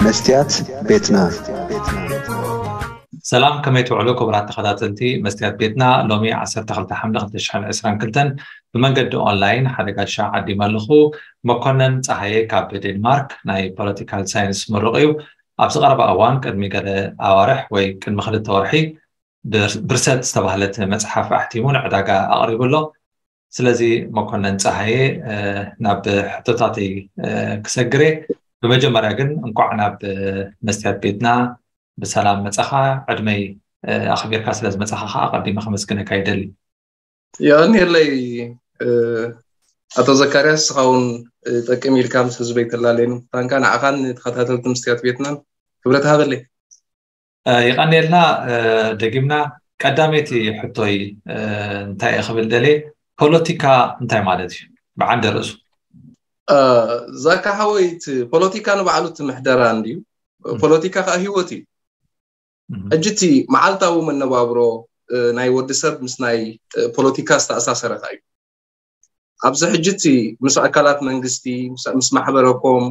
መስትያት ቤትና። ሰላም፣ ከመይ ትውዕሉ ክቡራት ተኸታተልቲ መስትያት ቤትና? ሎሚ ዓሰርተ ክልተ ሓምለ ክልተ ሽሕን ዕስራን ክልተን ብመንገዲ ኦንላይን ሓደ ጋሻ ዓዲመ ኣለኹ። መኮነን ፀሃየ ካብ ዴንማርክ ናይ ፖለቲካል ሳይንስ ምሩቕ እዩ። ኣብዚ ቀረባ እዋን ቅድሚ ገለ ኣዋርሕ ወይ ቅድሚ ክልተ ወርሒ ብር- ብርሰት ዝተባህለት መፅሓፍ ኣሕቲሙ ንዕዳጋ ኣቕሪቡ ኣሎ። ስለዚ መኮነን ፀሃየ፣ እ፣ ናብ ሕቶታተይ፣ እ፣ ክሰግር እየ። ብመጀመርያ ግን እንኳዕ ናብ፣ እ፣ መስትያት ቤትና ብሰላም መፃኻ። ዕድመይ፣ እ፣ ኣኽቢርካ ስለ ዝመፃኻ ከዓ ኣቐዲመ ከመስግነካ ይደሊ። የቐንየለይ። እ፣ ኣቶ ዘካርያስ፣ ንስኻ እውን፣ እ፣ ጠቅም ኢልካ ምስ ህዝበይ ተላለየኒ ምዃንካ ንዓኻን ንተኸታተልቲ መስትያት ቤትናን ክብረት ሃበለይ። እ፣ የቐንየልና። እ፣ ደጊምና ቀዳመይቲ ሕቶይ፣ እ፣ እንታይ እየ ክብል ደልየ፣ ፖለቲካ እንታይ ማለት እዩ ብዓንደ ርእሱ? እ፣ ዛካ ሓወይ፣ እቲ ፖለቲካ ንባዕሉ እቲ ምሕደራ እንድዩ። ፖለቲካ ከዓ ህይወት እዩ። ሕጂ እቲ መዓልታዊ መነባብሮ፣ እ፣ ናይ ወዲ ሰብ ምስ ናይ፣ እ፣ ፖለቲካ ዝተኣሳሰረ ከዓ እዩ። ኣብዚ ሕጂ እቲ ምስ ኣካላት መንግስቲ፣ ምስ፣ ምስ ማሕበረኮም፣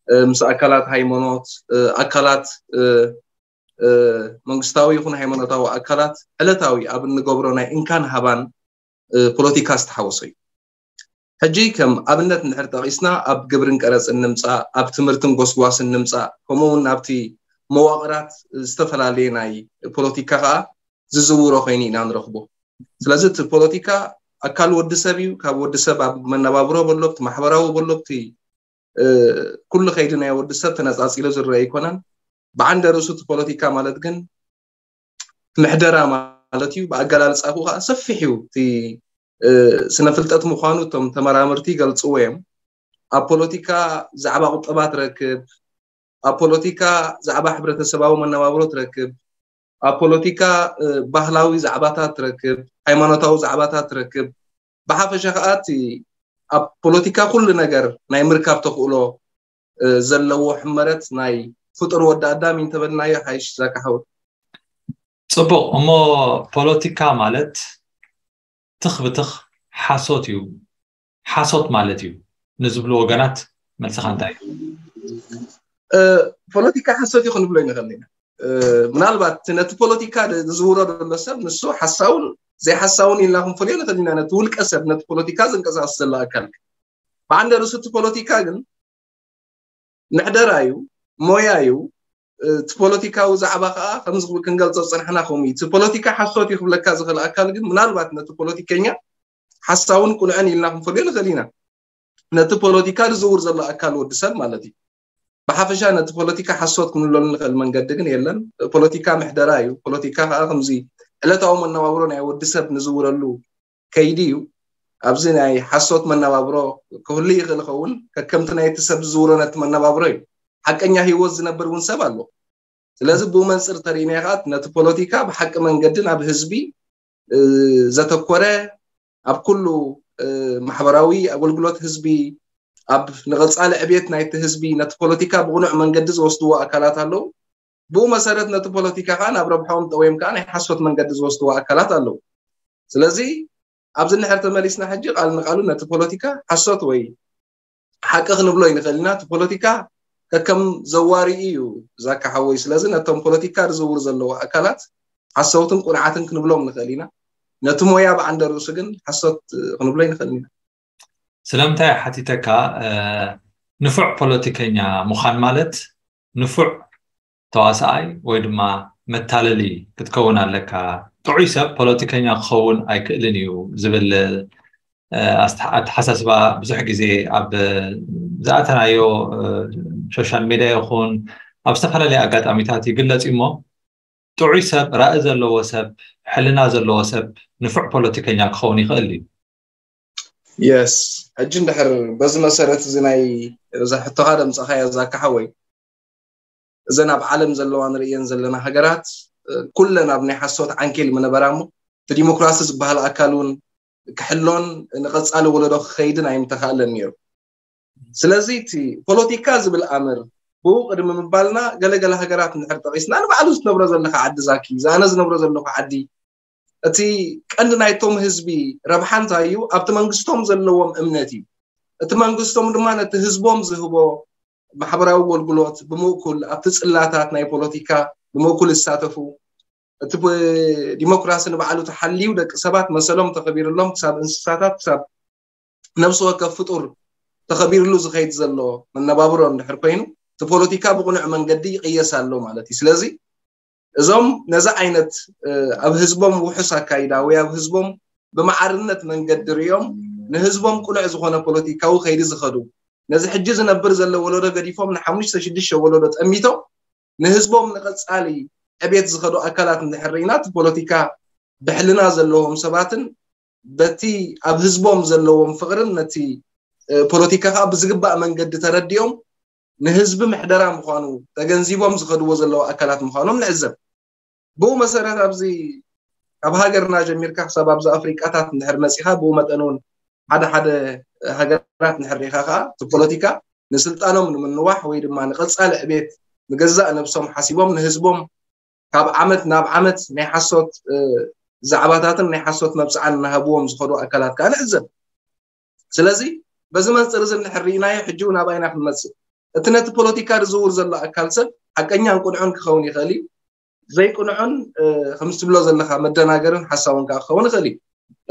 እ፣ ምስ ኣካላት ሃይማኖት፣ እ፣ ኣካላት፣ እ፣ እ፣ መንግስታዊ ይኹን ሃይማኖታዊ ኣካላት ዕለታዊ ኣብ እንገብሮ ናይ እንካን ሃባን፣ እ፣ ፖለቲካ ዝተሓወሶ እዩ። ሕጂ ከም ኣብነት እንድሕር ጠቒስና ኣብ ግብርን ቀረፅን ንምፃእ፣ ኣብ ትምህርትን ጎስጓስን ንምፃእ፣ ከምኡ እውን ናብቲ መዋቕራት ዝተፈላለየ ናይ ፖለቲካ ከዓ ዝዝውሮ ኮይኑ ኢና ንረኽቦ። ስለዚ እቲ ፖለቲካ ኣካል ወዲ ሰብ እዩ። ካብ ወዲ ሰብ ኣብ መነባብሮ በሎ፣ ኣብቲ ማሕበራዊ በሎ፣ ኣብቲ፣ እ፣ ኩሉ ከይዲ ናይ ወዲ ሰብ ተነፃፂሉ ዝረአ ኣይኮነን። ብዓንደ ርእሱ እቲ ፖለቲካ ማለት ግን ምሕደራ ማለት እዩ። ብኣገላልፃኹ ከዓ ሰፊሕ እዩ። እቲ፣ እ፣ ስነ ፍልጠት ምዃኑ እቶም ተመራመርቲ ይገልፅዎ እዮም። ኣብ ፖለቲካ ዛዕባ ቁጠባ ትረክብ፣ ኣብ ፖለቲካ ዛዕባ ሕብረተሰባዊ መነባብሮ ትረክብ፣ ኣብ ፖለቲካ፣ እ፣ ባህላዊ ዛዕባታት ትረክብ፣ ሃይማኖታዊ ዛዕባታት ትረክብ። ብሓፈሻ ከዓ እቲ ኣብ ፖለቲካ ኩሉ ነገር ናይ ምርካብ ተኽእሎ፣ እ፣ ዘለዎ ሕመረት ናይ ፍጡር ወዲ ኣዳም እዩ እንተበልናዮ ሓይሽ ዛካ ሓወይ። ፅቡቕ። እሞ ፖለቲካ ማለት ትኽ ብትኽ ሓሶት እዩ፣ ሓሶት ማለት እዩ ንዝብሉ ወገናት መልስኻ እንታይ እዩ? እ፣ ፖለቲካ ሓሶት እዩ ክንብሎ ይንኽእል ኢና። እ፣ ምናልባት ነቲ ፖለቲካ ድ-፣ ዝዝውሮ ዘሎ ሰብ ንሱ ሓሳውን ዘይሓሳውን ኢልና ክንፈልዮ ንኽእል ኢና። ነቲ ውልቀ ሰብ፣ ነቲ ፖለቲካ ዝንቀሳቐስ ዘሎ ኣካል። ብዓንደ ርእሱ እቲ ፖለቲካ ግን ምሕደራ እዩ፣ ሞያ እዩ። እ፣ እቲ ፖለቲካዊ ዛዕባ ከዓ ከምዚ ክንገልጾ ዝጸናሕና ከምኡ እዩ። እቲ ፖለቲካ ሓሶት እዩ ክብለካ ዝኽእል ኣካል ግን ምናልባት ነቲ ፖለቲከኛ ሓሳውን ቅኑዕን ኢልና ክንፈልዮ ንኽእል ኢና። ነቲ ፖለቲካ ዝዝውር ዘሎ ኣካል ወዲ ሰብ ማለት እዩ። ብሓፈሻ ነቲ ፖለቲካ ሓሶት ክንብለሉ ንኽእል መንገዲ ግን የለን። ፖለቲካ ምሕደራ እዩ። ፖለቲካ ከዓ ከምዚ ዕለታዊ መነባብሮ ናይ ወዲ ሰብ ንዝውረሉ ከይዲ እዩ። ኣብዚ ናይ ሓሶት መነባብሮ ክህሉ ይኽእል ይኸውን፣ ከከምቲ ናይቲ ሰብ ዝዝውሮ ነቲ መነባብሮ እዩ። ሓቀኛ ህይወት ዝነብር እውን ሰብ ኣሎ። ስለዚ ብኡ መንፅር ተሪእናዮ ከዓ ነቲ ፖለቲካ ብሓቂ መንገዲ ናብ ህዝቢ፣ እ፣ ዘተኮረ፣ ኣብ ኩሉ፣ እ፣ ማሕበራዊ ኣገልግሎት ህዝቢ፣ ኣብ ንቐፃሊ ዕብየት ናይቲ ህዝቢ ነቲ ፖለቲካ ብቕኑዕ መንገዲ ዝወስድዎ ኣካላት ኣለዉ። ብኡ መሰረት ነቲ ፖለቲካ ከዓ ናብ ረብሓኦም ጠውዮም ከዓ ናይ ሓሶት መንገዲ ዝወስድዎ ኣካላት ኣለዉ። ስለዚ ኣብዚ እንድሕር ተመሊስና ሕጂ ቃል ንቃሉ ነቲ ፖለቲካ ሓሶት ወይ ሓቂ ክንብሎ ይንኽእል ኢና። እቲ ፖለቲካ ከከም ዘዋሪኡ እዩ ዛካ ሓወይ። ስለዚ ነቶም ፖለቲካ ዝዝውሩ ዘለዉ ኣካላት ሓሰውትን ቁንዓትን ክንብሎም ንኽእል ኢና። ነቲ ሞያ ብዓንደ ርእሱ ግን ሓሶት ክንብሎ ይንኽእል ኢና። ስለምንታይ ሓቲተካ፣ እ፣ ንፉዕ ፖለቲከኛ ምዃን ማለት ንፉዕ ተዋሳኣይ ወይ ድማ መታለሊ ክትከውን ኣለካ። ጥዑይ ሰብ ፖለቲከኛ ክኸውን ኣይክእልን እዩ ዝብል፣ እ፣ ኣስተ-፣ ኣተሓሳስባ ብዙሕ ግዜ ኣብ ዝኣተናዮ፣ እ፣ ሶሻል ሚድያ ይኹን ኣብ ዝተፈላለየ ኣጋጣሚታት ይግለጽ እዩ። እሞ ጥዑይ ሰብ፣ ራኢ ዘለዎ ሰብ፣ ሕልና ዘለዎ ሰብ ንፉዕ ፖለቲከኛ ክኸውን ይኽእል እዩ። የስ፣ ሕጂ እንድሕር በዚ መሰረት እዚ ናይ እዛ ሕቶኻ ደምፀኻያ ዛካ ሓወይ፣ እዘን ኣብ ዓለም ዘለዋ ንርእየን ዘለና ሃገራት፣ እ፣ ኩለን ኣብ ናይ ሓሶት ዓንኬል ምነበራ እሞ እቲ ዲሞክራሲ ዝበሃል ኣካል እውን ክሕሎን ንቐፃሊ ወለዶ ክኸይድን ኣይምተኻእለን ነይሩ። ስለዚ እቲ ፖለቲካ ዝብል ኣምር ብኡ ቅድሚ ምባልና ገለገለ ሃገራት እንድሕር ጠቒስና ንባዕሉ ዝነብሮ ዘለኻ ዓዲ ዛኪ፣ ዝኣነ ዝነብሮ ዘለኹ ዓዲ፣ እቲ ቀንዲ ናይቶም ህዝቢ ረብሓ እንታይ እዩ? ኣብቲ መንግስቶም ዘለዎም እምነት እዩ። እቲ መንግስቶም ድማ ነቲ ህዝቦም ዝህቦ ማሕበራዊ ኣገልግሎት ብምእኩል ኣብቲ ጽላታት ናይ ፖለቲካ ብምእኩል ይሳተፉ። እቲ ዲሞክራሲ ንባዕሉ ተሓልዩ ደቂ ሰባት መሰሎም ተኸቢርሎም ክሳብ እንስሳታት ክሳብ ነብሲ ወከፍ ፍጡር ተኸቢርሉ ዝኸይድ ዘሎ መነባብሮ እንድሕር ኮይኑ እቲ ፖለቲካ ብቕኑዕ መንገዲ ይቕየስ ኣሎ ማለት እዩ። ስለዚ እዞም ነዚ ዓይነት ኣብ ህዝቦም ውሑስ ኣካይዳ ወይ ኣብ ህዝቦም ብመዓርነት መንገዲ ሪኦም ንህዝቦም ቅኑዕ ዝኾነ ፖለቲካዊ ከይዲ ዝኸዱ ነዚ ሕጂ ዝነብር ዘሎ ወለዶ ገዲፎም ንሓሙሽተ ሽዱሽተ ወለዶ ጠሚቶም ንህዝቦም ንቐጻሊ ዕቤት ዝኸዱ ኣካላት እንድሕር ርኢና እቲ ፖለቲካ ብሕልና ዘለዎም ሰባትን በቲ ኣብ ህዝቦም ዘለዎም ፍቕርን ነቲ ፖለቲካ ከዓ ብዝግባእ መንገዲ ተረዲኦም ንህዝቢ ምሕደራ ምዃኑ ተገንዚቦም ዝኸድዎ ዘለዉ ኣካላት ምዃኖም ንዕዘብ። ብኡ መሰረት ኣብዚ ካብ ሃገርና ጀሚርካ ክሳብ ኣብዚ ኣፍሪቃታት እንድሕር መፂኻ ብኡ መጠን እውን ሓደ ሓደ ሃገራት እንድሕር ርኢኻ ከዓ እቲ ፖለቲካ ንስልጣኖም ንምንዋሕ ወይ ድማ ንቐፃሊ ዕቤት ንገዛእ ነብሶም ሓሲቦም ንህዝቦም ካብ ዓመት ናብ ዓመት ናይ ሓሶት ዛዕባታትን ናይ ሓሶት መብፅዓን እናሃብዎም ዝኸዱ ኣካላት ከዓ ንዕዘብ። ስለዚ በዚ መንፅር እዚ እንድሕር ርኢናዮ ሕጂ እውን ኣባይና ክንመፅእ እቲ ነቲ ፖለቲካ ዝዝውር ዘሎ ኣካል ሰብ ሓቀኛን ቅኑዕን ክኸውን ይኽእል እዩ። ዘይቅኑዕን ከምዚ ትብሎ ዘለካ መደናገርን ሓሳውን ከዓ ክኸውን ይኽእል እዩ።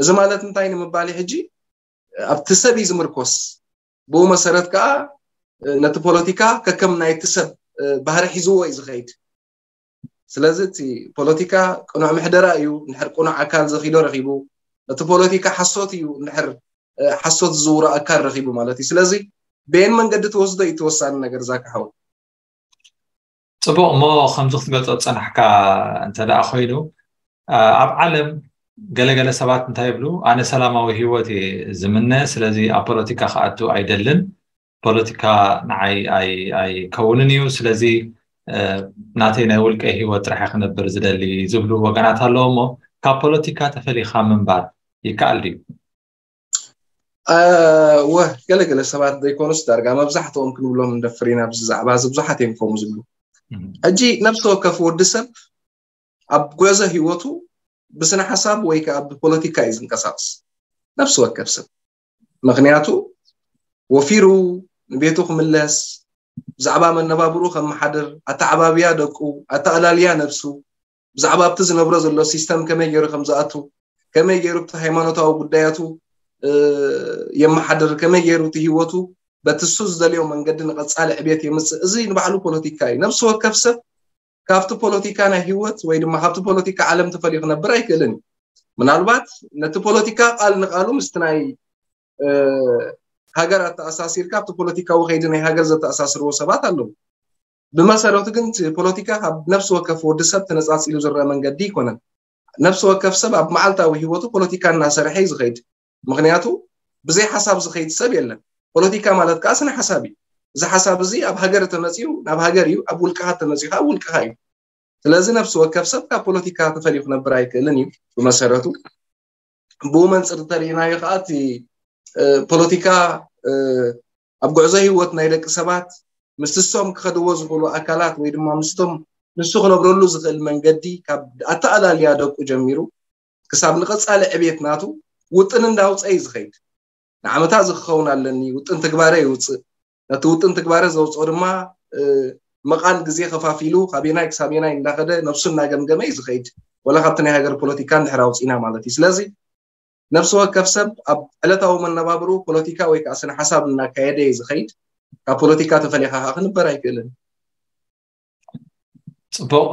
እዚ ማለት እንታይ ንምባል ሕጂ ኣብቲ ሰብ እዩ ዝምርኮስ። ብኡ መሰረት ከዓ ነቲ ፖለቲካ ከከም ናይቲ ሰብ ባህሪ ሒዝዎ እዩ ዝኸይድ። ስለዚ እቲ ፖለቲካ ቅኑዕ ምሕደራ እዩ። እንድሕር ቅኑዕ ኣካል ዘኺዶ ረኺቡ፣ እቲ ፖለቲካ ሓሶት እዩ። እንድሕር ሓሶት ዝዝውሮ ኣካል ረኺቡ ማለት እዩ። ስለዚ በየን መንገዲ ትወስዶ እዩ ተወሳኒ ነገር ዛካ ሓው። ፅቡቕ እሞ ከምዚ ክትገልፆ ዝፀናሕካ እንተ ደኣ ኮይኑ ኣብ ዓለም ገለገለ ሰባት እንታይ ይብሉ ኣነ ሰላማዊ ህይወት እየ ዝምነ ስለዚ ኣብ ፖለቲካ ክኣቱ ኣይደልን ፖለቲካ ንዓይ ኣይከውንን እዩ ስለዚ ናተይ ናይ ውልቀ ህይወት ጥራሕ ክነብር ዝደሊ ዝብሉ ወገናት ኣለዎ እሞ ካብ ፖለቲካ ተፈሊኻ ምንባር ይከኣል ድዩ? ወ ገለገለ ሰባት ዘይኮኑስ ዳርጋ መብዛሕትኦም ክንብሎም እንደፍር ኢና ብዚ ዛዕባ እዚ ብዙሓት እዮም ከምኡ ዝብሉ ሕጂ ነብሲ ወከፍ ወዲ ሰብ ኣብ ጉዕዞ ህይወቱ ብስነ ሓሳብ ወይ ከዓ ብፖለቲካ እዩ ዝንቀሳቀስ ነብሲ ወከፍ ሰብ ምክንያቱ ወፊሩ ንቤቱ ክምለስ ብዛዕባ መነባብርኡ ከመሓድር ኣተዓባብያ ደቁ ኣተኣላልያ ነብሱ ብዛዕባ ኣብቲ ዝነብሮ ዘሎ ሲስተም ከመይ ገይሩ ከም ዝኣቱ ከመይ ገይሩ ኣብቲ ሃይማኖታዊ ጉዳያቱ የመሓድር ከመይ ገይሩ እቲ ህይወቱ በቲ እሱ ዝደልዮ መንገዲ ንቐፃሊ ዕቤት የምፅእ እዚ ንባዕሉ ፖለቲካ እዩ ነብሲ ወከፍ ሰብ ካብቲ ፖለቲካ ናይ ህይወት ወይ ድማ ካብቲ ፖለቲካ ዓለም ተፈልዩ ክነብር ኣይክእልን እዩ ምናልባት ነቲ ፖለቲካ ቃል ንቃሉ ምስቲ ናይ ሃገር ኣተኣሳሲርካ ኣብቲ ፖለቲካዊ ከይዲ ናይ ሃገር ዘተኣሳስርዎ ሰባት ኣለዉ ብመሰረቱ ግን ፖለቲካ ካብ ነፍሲ ወከፍ ወዲ ሰብ ተነፃፂሉ ዝረአ መንገዲ ይኮነን ነፍሲ ወከፍ ሰብ ኣብ መዓልታዊ ህይወቱ ፖለቲካ እናሰርሐ እዩ ዝኸይድ ምክንያቱ ብዘይ ሓሳብ ዝኸይድ ሰብ የለን ፖለቲካ ማለት ከዓ ስነ ሓሳብ እዩ እዚ ሓሳብ እዚ ኣብ ሃገር ተመፅኡ ናብ ሃገር እዩ ኣብ ውልቅኻ ተመፅኡ ከዓ ውልቅኻ እዩ ስለዚ ነፍሲ ወከፍ ሰብ ካብ ፖለቲካ ተፈልዩ ክነብር ኣይክእልን እዩ ብመሰረቱ ብኡ መንፅር እንተሪኢናዮ ከዓ እቲ ፖለቲካ ኣብ ጉዕዞ ህይወት ናይ ደቂ ሰባት ምስቲ እሶም ክኸድዎ ዝኽእሉ ኣካላት ወይ ድማ ምስቶም ንሱ ክነብረሉ ዝኽእል መንገዲ ካብ ኣተኣላልያ ደቁ ጀሚሩ ክሳብ ንቐፃሊ ዕቤት ናቱ ውጥን እንዳውፀ እዩ ዝኸይድ ንዓመታ እዚ ክኸውን ኣለኒ ውጥን ትግባረ ይውፅእ ነቲ ውጥን ትግባረ ዘውፅኦ ድማ መቓን ግዜ ከፋፊሉ ካበየናይ ክሳብ የናይ እንዳኸደ ነብሱ እናገምገመ እዩ ዝኸይድ ወላ ካብቲ ናይ ሃገር ፖለቲካ እንድሕር ኣውፂና ማለት እዩ ስለዚ ነብሲ ወከፍ ሰብ ኣብ ዕለታዊ መነባብርኡ ፖለቲካ ወይ ከዓ ስነ ሓሳብ እናካየደ እዩ ዝኸይድ ካብ ፖለቲካ ተፈሊኻ ከዓ ክንበር ኣይክእልን ፅቡቕ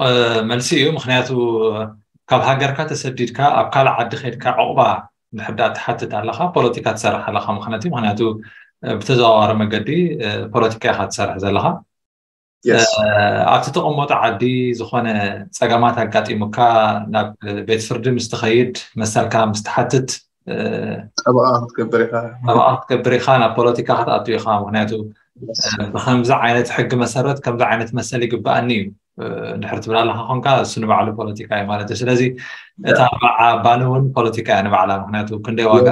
መልሲ እዩ ምክንያቱ ካብ ሃገርካ ተሰዲድካ ኣብ ካልእ ዓዲ ከድካ ዕቑባ እንድሕር ደኣ ትሓትት ኣለኻ ፖለቲካ ትሰርሕ ኣለኻ ምክንያቱ ምክንያቱ ብተዘዋዋሪ መገዲ ፖለቲካ ኢኻ ትሰርሕ ዘለኻ ኣብቲ ተቐመጦ ዓዲ ዝኾነ ፀገማት ኣጋጢሙካ ናብ ቤት ፍርዲ ምስ ትኸይድ መሰልካ ምስ ትሓትት ጠበቓ ክትገብር ኢኻ ናብ ፖለቲካ ክትኣቱ ኢኻ ምክንያቱ ብከምዚ ዓይነት ሕጊ መሰረት ከምዚ ዓይነት መሰል ይግበኣኒ እዩ እንድሕር ትብል ኣለካ ኮንካ እሱ ንባዕሉ ፖለቲካ እዩ ማለት እዩ ስለዚ እታ በዓ ባኒ እውን ፖለቲካ እያ ንባዕላ ምክንያቱ ክንደይ ዋጋ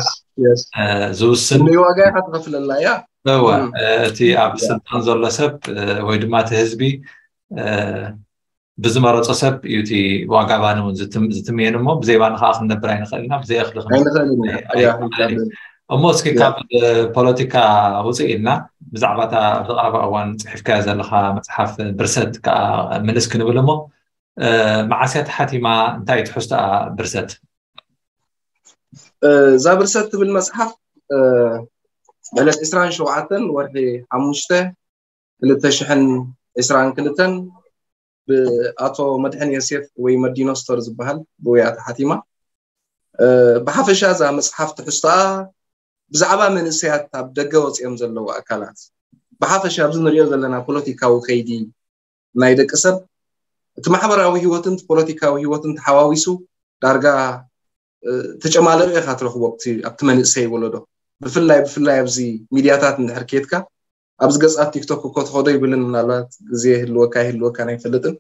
ዝውስን ዋጋ ኢካ ትኸፍለላ እያ እወ እቲ ኣብ ስልጣን ዘሎ ሰብ ወይ ድማ እቲ ህዝቢ ብዝመረፆ ሰብ እዩ እቲ ዋጋ ባኒ እውን ዝትምየን እሞ ብዘይ ባኒ ከዓ ክንነብር ኣይንኽእል ኢና ብዘይ እኽሊ እሞ እስኪ ካብ ፖለቲካ ውፅእ ኢልና ብዛዕባ እታ ኣብዚ ቀረባ እዋን ፅሒፍካዮ ዘለካ መፅሓፍ ብርሰት ከዓ ምልስ ክንብል እሞ፣ መዓስያ ተሓቲማ? እንታይ ትሕዝቶኣ ብርሰት? እዛ ብርሰት ትብል መፅሓፍ ዕለት ዕስራን ሸውዓተን ወርሒ ሓሙሽተ ክልተ ሽሕን ዕስራን ክልተን ብኣቶ መድሕን ዮሴፍ ወይ መዲኖ ስቶር ዝበሃል ብውያ ተሓቲማ። ብሓፈሻ እዛ መፅሓፍ ትሕዝቶኣ ብዛዕባ መንእሰያት ኣብ ደገ ወፂኦም ዘለዉ ኣካላት፣ ብሓፈሻ ኣብዚ ንሪኦ ዘለና ፖለቲካዊ ከይዲ ናይ ደቂ ሰብ፣ እቲ ማሕበራዊ ህይወትን ፖለቲካዊ ህይወትን ተሓዋዊሱ ዳርጋ ተጨማለቀ ኢካ ትረክቦ ኣብቲ መንእሰይ ወለዶ። ብፍላይ ብፍላይ ኣብዚ ሚድያታት እንድሕር ኬድካ፣ ኣብዚ ገፃት ቲክቶክ እኮ ትኸዶ ይብልን፣ ምናልባት ግዜ ይህልወካ ይህልወካ ኣይፈልጥን።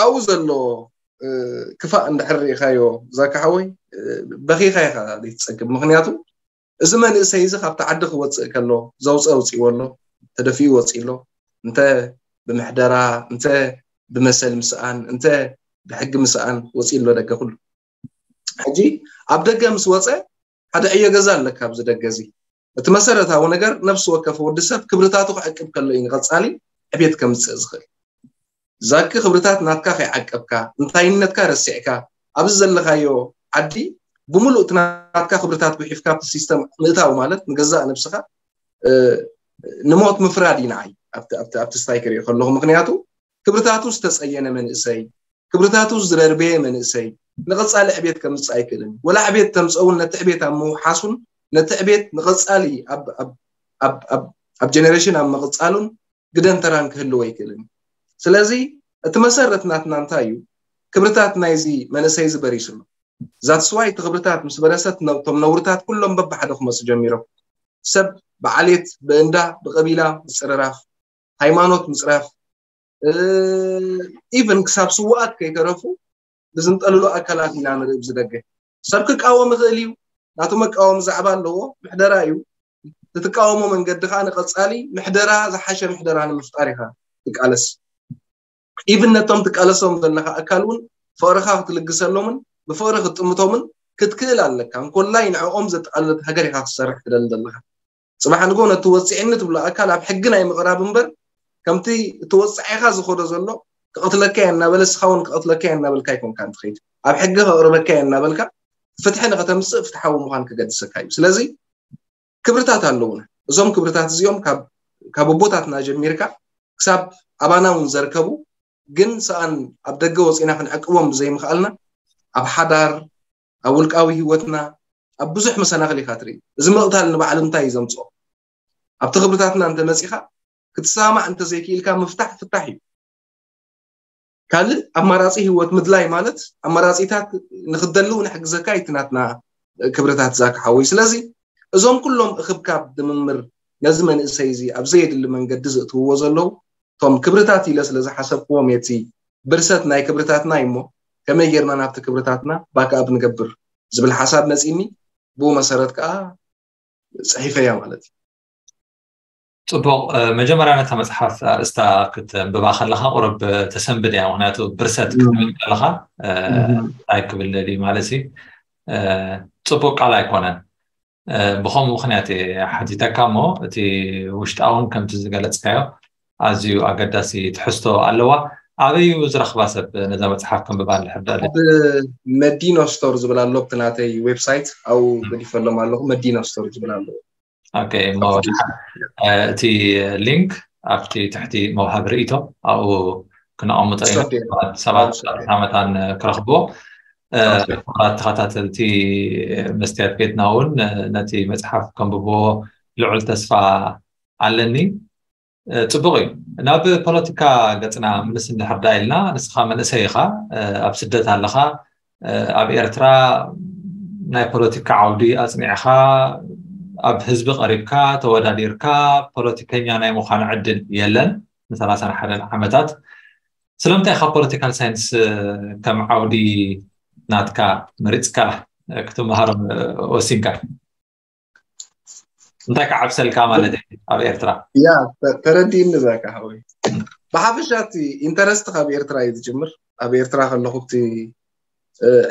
ኣብኡ ዘሎ ክፋእ እንድሕር ርኢካዮ ዛካ ሓወይ፣ በኺካ ኢካ ዘይትፀግብ። ምክንያቱ እዚ መንእሰይ እዚ ካብቲ ዓዲ ክወፅእ ከሎ ዘውፀ ኣውፅእዎ ኣሎ፣ ተደፊኡ ወፂኡ ኣሎ። እንተ ብምሕደራ፣ እንተ ብመሰል ምስኣን፣ እንተ ብሕጊ ምስኣን ወፂኡ ኣሎ ደገ ኩሉ። ሕጂ ኣብ ደገ ምስ ወፀ ሓደ ዕዮ ገዛ ኣለካ ኣብዚ ደገ እዚ። እቲ መሰረታዊ ነገር ነፍሲ ወከፍ ወዲ ሰብ ክብርታቱ ክዕቅብ ከሎ እዩ ንቐፃሊ ዕቤት ከምፅእ ዝኽእል። ዛኪ ክብርታት ናትካ ከይዓቀብካ፣ እንታይነትካ ረሲዕካ ኣብዚ ዘለካዮ ዓዲ ብምሉእ እቲ ናትካ ክብርታት ጉሒፍካ ኣብቲ ሲስተም ምእታው ማለት ንገዛእ ነብስኻ ንሞት ምፍራድ እዩ ንዓይ ኣብቲ ስታይ ክሪኦ ከለኹ። ምክንያቱ ክብርታቱ ዝተፀየነ መንእሰይ፣ ክብርታቱ ዝደርበየ መንእሰይ ንቐፃሊ ዕቤት ከምፅእ ኣይክእልን። ወላ ዕቤት ተምፀውን ነቲ ዕቤት ኣብ ምውሓሱን ነቲ ዕቤት ንቐፃሊ ኣብ ጀነሬሽን ኣብ ምቕፃሉን ግደን ተራን ክህልዎ ኣይክእልን። ስለዚ እቲ መሰረት ናትና እንታይ እዩ? ክብርታት ናይዚ መንእሰይ እዚ በሪሱ ኣሎ። ዛትስዋይ እቲ ክብርታት ምስ በረሰት እቶም ነውርታት ኩሎም በብሓደ ክመፁ ጀሚሮም። ሰብ ብዓሌት፣ ብእንዳ፣ ብቀቢላ ምፅርራፍ፣ ሃይማኖት ምፅራፍ፣ ኢቨን ክሳብ ስውኣት ከይተረፉ ብዝንጠልሉ ኣካላት ኢና ንርኢ። ብዝደገ ሰብ ክቃወም ይኽእል እዩ፣ ናቱ መቃወሚ ዛዕባ ኣለዎ፣ ምሕደራ እዩ። ትትቃወሞ መንገዲ ከዓ ንቐፃሊ ምሕደራ ዝሓሸ ምሕደራ ንምፍጣር ኢኻ ትቃለስ። ኢቭን ነቶም ትቃለሶም ዘለካ ኣካል እውን ፍቕርኻ ክትልግሰሎምን ብፍቕሪ ክትጥምቶምን ክትክእል ኣለካ። እንኮላይ ንዕኦም ዘጠቓልለት ሃገር ኢኻ ክትሰርሕ ትደሊ ዘለካ። ፅባሕ ንጎ ነቲ ወፂዕኒ ትብሎ ኣካል ኣብ ሕጊ ናይ ምቕራብ እምበር ከምቲ እቲ ወፃዒኻ ዝኸዶ ዘሎ ክቐትለካ እየ እናበለ እስኻ እውን ክቐትለካ እየ እናበልካ ኣይኮንካን ትኸይድ። ኣብ ሕጊ ከቕርበካ እየ እናበልካ ፍትሒ ንኸተምፅእ ፍትሓዊ ምዃን ክገድሰካ እዩ። ስለዚ ክብርታት ኣለውና። እዞም ክብርታት እዚኦም ካብ ኣቦታትና ጀሚርካ ክሳብ ኣባና እውን ዘርከቡ ግን ሰኣን ኣብ ደገ ወፂና ክንዕቅቦም ብዘይምኽኣልና ኣብ ሓዳር፣ ኣብ ውልቃዊ ህይወትና፣ ኣብ ብዙሕ መሰናኽል ኢኻ ትርኢ። እዚ ምቕታል ንባዕሉ እንታይ እዩ ዘምፅኦ? ኣብቲ ክብርታትና እንተመፂኻ ክትሰማማዕ እንተዘይክኢልካ ምፍታሕ ፍታሕ እዩ። ካልእ ኣማራፂ ህይወት ምድላይ ማለት ኣማራፂታት ንክትደሊ እውን ሕግዘካ እዩ እቲ ናትና ክብርታት ዛካ ሓወይ። ስለዚ እዞም ኩሎም እክብካብ ድምምር ነዚ መንእሰይ እዚ ኣብ ዘየድሊ መንገዲ ዘእትውዎ ዘለዉ እቶም ክብርታት ኢለ ስለ ዝሓሰብክዎም እቲ ብርሰት ናይ ክብርታትና እዩ እሞ ከመይ ጌርና ናብቲ ክብርታትና ባክኣፕ ንገብር ዝብል ሓሳብ መፂኒ። ብኡ መሰረት ከዓ ፅሒፈያ ማለት እዩ። ፅቡቕ። መጀመርያ ነታ መፅሓፍ ኣርእስታ ክትንብባ ከለካ ቁርብ ተሰንብድ እያ። ምክንያቱ ብርሰት ክትብል ከለካ እንታይ ክብል ደልዩ ማለት እዩ፣ ፅቡቅ ቃል ኣይኮነን። ብከምኡ ምክንያት እየ ሓቲተካ እሞ እቲ ውሽጣውን ከምቲ ዝገለፅካዮ ኣዝዩ ኣገዳሲ ትሕዝቶ ኣለዋ። ኣበይ እዩ ዝረኽባ ሰብ ነዛ መፅሓፍ ከንብባ እንድሕር ደልዩ? መዲኖ ስቶር ዝብል ኣሎ ኣብቲ ናተይ ዌብሳይት፣ ኣብኡ ገዲፈሎም ኣለኹ። መዲኖ ስቶር ዝብል ኣሎ። ኦኬ፣ እሞ እቲ ሊንክ ኣብቲ ትሕቲ መውሃቢ ርእይቶ ኣብኡ ክነቐምጦ ኢና። ሰባት መታን ክረኽብዎ። ክቡራት ተኸታተልቲ መስትያት ቤትና እውን ነቲ መፅሓፍ ከንብብዎ ልዑል ተስፋ ኣለኒ። ፅቡቅ እዩ። ናብ ፖለቲካ ገፅና ምልስ እንድሕር ዳ ኢልና፣ ንስኻ መንእሰይ ኢኻ፣ ኣብ ስደት ኣለኻ። ኣብ ኤርትራ ናይ ፖለቲካ ዓውዲ ኣፅኒዕኻ፣ ኣብ ህዝቢ ቀሪብካ ተወዳዲርካ ፖለቲከኛ ናይ ምዃን ዕድል የለን ንሰላሳን ሓደን ዓመታት። ስለምንታይ ኢኻ ፖለቲካል ሳይንስ ከም ዓውዲ ናትካ መሪፅካ ክትመሃር ወሲንካ? እንታይ ክዓብሰልካ ማለት እዩ ኣብ ኤርትራ? ያ ተረዲእኒ ዛካ ሓወይ። ብሓፈሻ እቲ ኢንተረስት ካብ ኤርትራ እዩ ዝጅምር። ኣብ ኤርትራ ከለኹ እቲ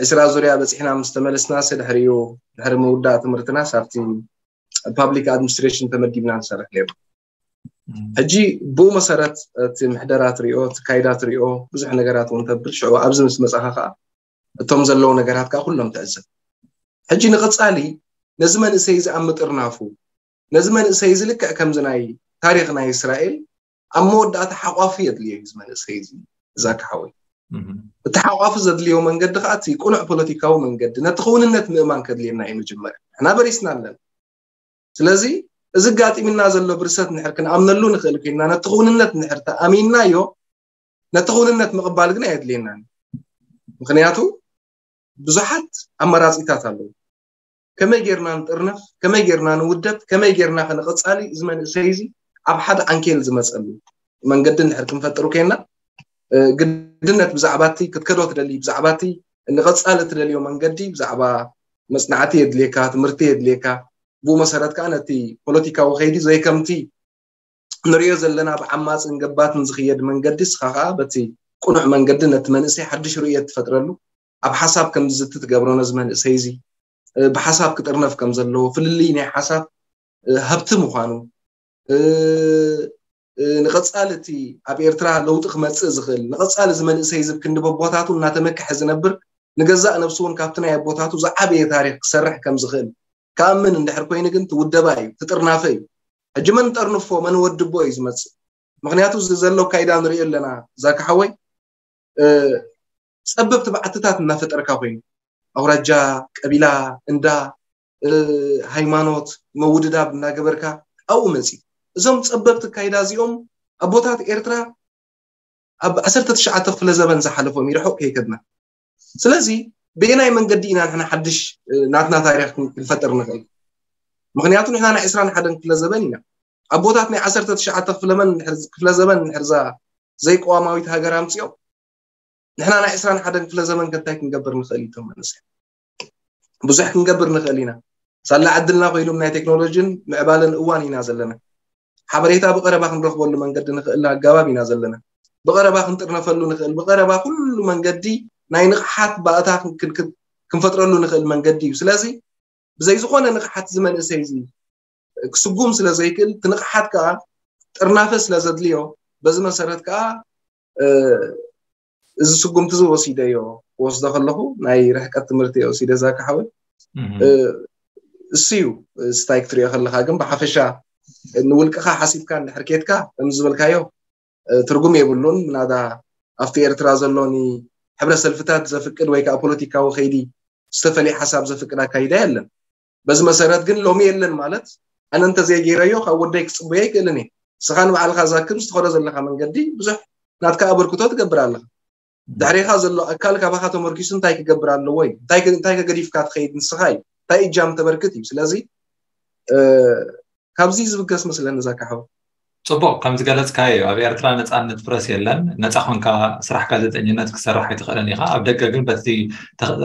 ዕስራ ዙርያ በፂሕና ምስ ተመለስናስ ድሕሪኡ ድሕሪ ምውዳእ ትምህርትናስ ኣብቲ ፓብሊክ ኣድሚኒስትሬሽን ተመዲብና ንሰርሕ ነይሩ። ሕጂ ብኡ መሰረት እቲ ምሕደራ ትሪኦ፣ እቲ ካይዳ ትሪኦ፣ ብዙሕ ነገራት እውን ተብል። ሽዑ ኣብዚ ምስ መፃኻ ከዓ እቶም ዘለዉ ነገራት ከዓ ኩሎም ትዕዘብ። ሕጂ ንቐፃሊ ነዚ መንእሰይ እዚ ኣብ ምጥርናፉ፣ ነዚ መንእሰይ እዚ ልክዕ ከምዚ ናይ ታሪኽ ናይ እስራኤል ኣብ መወዳእታ ሓቋፊ የድልዮ እዩ። እዚ መንእሰይ እዚ እዛ ክሓወይ እቲ ሓቋፊ ዘድልዮ መንገዲ ከዓ እቲ ቁኑዕ ፖለቲካዊ መንገዲ፣ ነቲ ክውንነት ምእማን ከድልየና እዩ። መጀመርያ ንሕና በሪስና ኣለና። ስለዚ እዚ ጋጢምና ዘሎ ብርሰት ንድሕር ክንኣምነሉ ንኽእል ኮይንና፣ ነቲ ክውንነት ንድሕር ተኣሚንናዮ፣ ነቲ ክውንነት ምቕባል ግን ኣየድልየናን። ምኽንያቱ ብዙሓት ኣማራፂታት ኣለዉ። ከመይ ጌርና ንጥርነፍ፣ ከመይ ጌርና ንውደብ፣ ከመይ ጌርና ከነቐፃሊ፣ እዚ መንእሰይ እዚ ኣብ ሓደ ዓንኬል ዝመፀሉ መንገዲ እንድሕር ክንፈጥሩ ኮይንና፣ ግድነት ብዛዕባቲ ክትከዶ ትደሊ፣ ብዛዕባቲ ንቐፃሊ ትደልዮ መንገዲ፣ ብዛዕባ መፅናዕቲ የድልየካ፣ ትምህርቲ የድልየካ። ብኡ መሰረት ከዓ ነቲ ፖለቲካዊ ከይዲ ዘይከምቲ ንሪኦ ዘለና ብዓማፅን ገባትን ዝኽየድ መንገዲ፣ እስኻ ከዓ በቲ ቁኑዕ መንገዲ ነቲ መንእሰይ ሓድሽ ርእየት ትፈጥረሉ፣ ኣብ ሓሳብ ከም ዝዝቲ ትገብሮ፣ ነዚ መንእሰይ እዚ ብሓሳብ ክጥርነፍ ከም ዘለዎ፣ ፍልልይ ናይ ሓሳብ ሃብቲ ምዃኑ፣ ንቐፃሊ እቲ ኣብ ኤርትራ ለውጢ ክመፅእ ዝኽእል፣ ንቐፃሊ እዚ መንእሰይ እዚ ክንዲ በቦታቱ እናተመክሐ ዝነብር፣ ንገዛእ ነብሱ እውን ካብቲ ናይ ኣቦታቱ ዝዓበየ ታሪኽ ክሰርሕ ከም ዝኽእል ክኣምን እንድሕር ኮይኑ ግን ትውደባ እዩ፣ ትጥርናፈ እዩ። ሕጂ መን ጠርንፎ መን ወድቦ እዩ ዝመፅእ። ምኽንያቱ እዚ ዘሎ ካይዳ ንሪኦ ኣለና። ዛካ ሓወይ፣ ፀበብቲ በዓትታት እናፈጠርካ ኮይኑ፣ ኣውራጃ፣ ቀቢላ፣ እንዳ፣ ሃይማኖት፣ መውድዳብ እናገበርካ ኣብኡ መፂ። እዞም ፀበብቲ ካይዳ እዚኦም ኣቦታት ኤርትራ ኣብ ዓሰርተ ትሽዓተ ክፍለ ዘበን ዝሓለፎም ይርሑቕ ከይከድና። ስለዚ ብየናይ መንገዲ ኢና ንሕና ሓድሽ ናትና ታሪኽ ክንፈጥር ንኽእል? ምኽንያቱ ንሕና ናይ ዕስራን ሓደን ክፍለ ዘበን ኢና። ኣቦታት ናይ ዓሰርተ ትሽዓተ ክፍለ ዘበን ንድሕርዛ ዘይቀዋማዊት ሃገር ኣምፅኦም። ንሕና ናይ ዕስራን ሓደን ክፍለ ዘበን ከ እንታይ ክንገብር ንኽእል? እቶም መንእሰያት ብዙሕ ክንገብር ንኽእል ኢና። ሳላ ዕድልና ኮይኑ ናይ ቴክኖሎጂን ምዕባለን እዋን ኢና ዘለና። ሓበሬታ ብቐረባ ክንረኽበሉ መንገዲ ንኽእል ኣገባብ ኢና ዘለና። ብቐረባ ክንጥርነፈሉ ንኽእል፣ ብቐረባ ኩሉ መንገዲ ናይ ንቕሓት ባእታ ክንፈጥረሉ ንኽእል መንገዲ እዩ። ስለዚ ብዘይ ዝኾነ ንቕሓት እዚ መንእሰይ እዚ ክስጉም ስለ ዘይክእል፣ እቲ ንቕሓት ከዓ ጥርናፈ ስለ ዘድልዮ፣ በዚ መሰረት ከዓ እዚ ስጉምቲ እዚ ወሲደዮ፣ ክወስዶ ከለኹ ናይ ርሕቀት ትምህርቲ እየ ወሲደ። ዛካ ሓወይ፣ እሱ እዩ ስታይ ክትሪኦ ከለኻ። ግን ብሓፈሻ ንውልቅኻ ሓሲብካ እንድሕር ኬድካ፣ ከም ዝበልካዮ ትርጉም የብሉን። ምናዳ ኣብቲ ኤርትራ ዘሎ ንሕብረ ሰልፍታት ዘፍቅድ ወይ ከዓ ፖለቲካዊ ከይዲ ዝተፈለየ ሓሳብ ዘፍቅድ ኣካይዳ የለን። በዚ መሰረት ግን ሎሚ የለን ማለት ኣነ እንተዘይገይረዮ ካብ ወደይ ክፅበዮ ኣይክእልን እየ። ንስኻ ንባዕልኻ ዛክብ ዝትኸዶ ዘለኻ መንገዲ ብዙሕ ናትካ ኣበርክቶ ትገብር ኣለኻ። ድሕሬኻ ዘሎ ኣካል ካባኻ ተመርኪሱ እንታይ ክገብር ኣለዎ እዩ? እንታይ ከ- እንታይ ከገዲፍካ ትኸይድ ንስኻ እዩ? እንታይ እጃም ተበርክት እዩ? ስለዚ እ፣ ካብዚ ዝብገስ መስለኒ ዛካ ሓው። ፅቡቅ፣ ከም ዝገለፅካዮ ኣብ ኤርትራ ነፃነት ፕረስ የለን። ነፃ ኮንካ ስራሕ ጋዜጠኝነት ክሰርሕ ኣይትኽእልን ኢኻ። ኣብ ደገ ግን በቲ